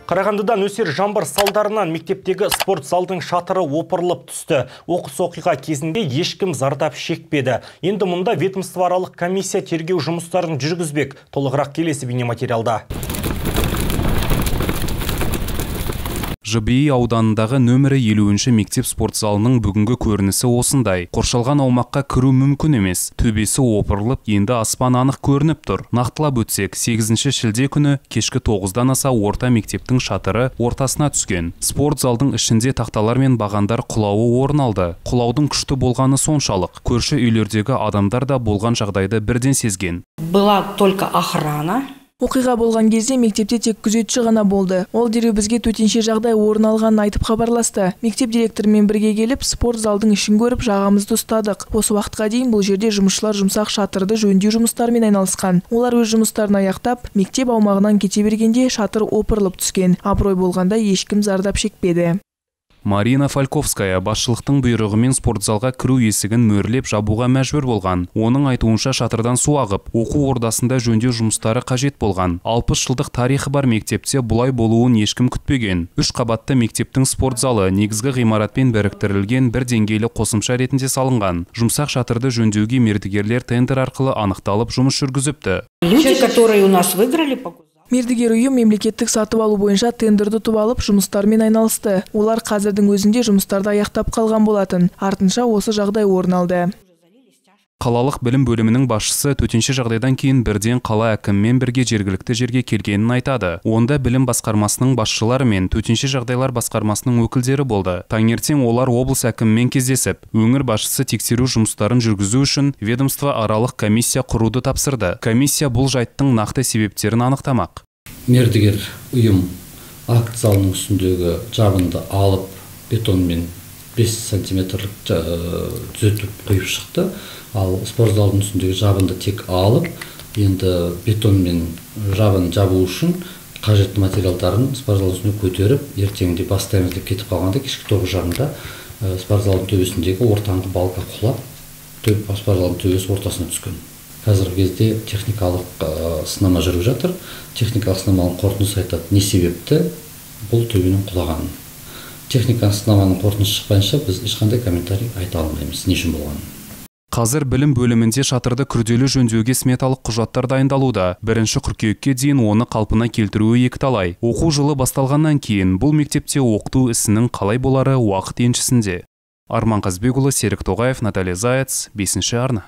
Қарағандыда нөсер жаңбыр салдарынан мектептегі спорт залдың шатыры опырылып түсті. Оқыс оқиға кезінде ешкім зардап шекпеді. Енді мұнда ведомствоаралық комиссия тергеу жұмыстарын жүргізбек. Толығырақ келесі бейнематериалда. ЖБИ ауданындағы нөмірі 50-ші мектеп спорт залының бүгінгі көрінісі осындай. Қоршалған аумаққа кіру мүмкін емес. Төбесі опырылып, енді аспан анық көрініп тұр. Нақтылап өтсек, 8 шілде күні кешкі 9-дан аса орта мектептің шатыры ортасына түскен. Спорт залдың ішінде тақталар мен бағандар құлауы орын алды. Құлаудың күшті болғаны соншалық. Көрші үйлердегі адамдар да болған жағдайды бірден сезген. Была только охрана. Оқиға болған кезде мектепте тек күзетші ғана болды. Ол дереу бізге төтенше жағдай орын алғанын айтып хабарласты. Мектеп директорымен бірге келіп, спорт залдың ішін көріп, жағамызды ұстадық. Осы уақытқа дейін бұл жерде жұмысшылар жұмсақ шатырды жөндеу жұмыстарымен айналысқан. Олар өз жұмыстарын аяқтап, мектеп аумағынан кете бергенде шатыр опырылып түскен. Абырой болғанда ешкім зардап шекпеді. Марина Фальковская басшылықтың бұйрығымен спортзалға кіру есігін мөрлеп жабуға мәжбүр болған. Оның айтуынша шатырдан су ағып, оқу ордасында жөндеу жұмыстары қажет болған. 60 жылдық тарихы бар мектепте бұлай болуын ешкім күтпеген. 3 қабатты мектептің спортзалы негізгі ғимаратпен біріктірілген бір деңгейлі қосымша ретінде салынған. Жұмсақ шатырды жөндеуге мердігерлер тендер арқылы анықталып жұмыс жүргізіпті. Люди, которые у нас выиграли, мердігер ұйым мемлекеттік сатып алу бойынша тендерді ұтып алып жұмыстармен айналысты. Олар қазірдің өзінде жұмыстарды аяқтап қалған болатын. Артынша осы жағдай орын алды. Қалалық білім бөлімінің басшысы төтенше жағдайдан кейін бірден қала әкімімен бірге жергілікті жерге келгенін айтады. Онда білім басқармасының басшылары мен төтенше жағдайлар басқармасының өкілдері болды. Таңертең олар облыс әкімімен кездесіп, өңір басшысы тексеру жұмыстарын жүргізу үшін ведомство аралық комиссия құруды тапсырды. Комиссия бұл жайттың нақты себептерін анықтамақ. Мердігер ұйым акт залының үстіндегі жабынды алып, бетонмен 5 сантиметрлік түзетіп қойып шықты. Ал спорт залының үстіндегі жабынды тек алып, енді бетонмен жабын жабу үшін қажетті материалдарын спорт залының үстіне көтеріп, ертеңінде бастаймыз деп кетіп қалғанда кешкі 9:30-да спорт залының төбесіндегі ортаңғы балка құлап, спорт залының төбесі ортасына түскен. Қазіргі кезде техникалық сынама жүріп жатыр. Техникалық сынаманың қорытындысы айтады, не себепті бұл төбенің құлағанын. Техникалық сынаманың қорытындысы шықпайынша біз ешқандай комментарий айта алмаймыз, не үшін болғанын. Қазір білім бөлімінде шатырды күрделі жөндеуге сметалық құжаттар дайындалуда. 1 қыркүйекке дейін оны қалпына келтіруі екіталай. Оқу жылы басталғаннан кейін бұл мектепте оқыту ісінің қалай болары уақыт еншісінде. Арман Қазбекұлы, Серік Тоғаев, Наталья Заяц, 5-ші арна.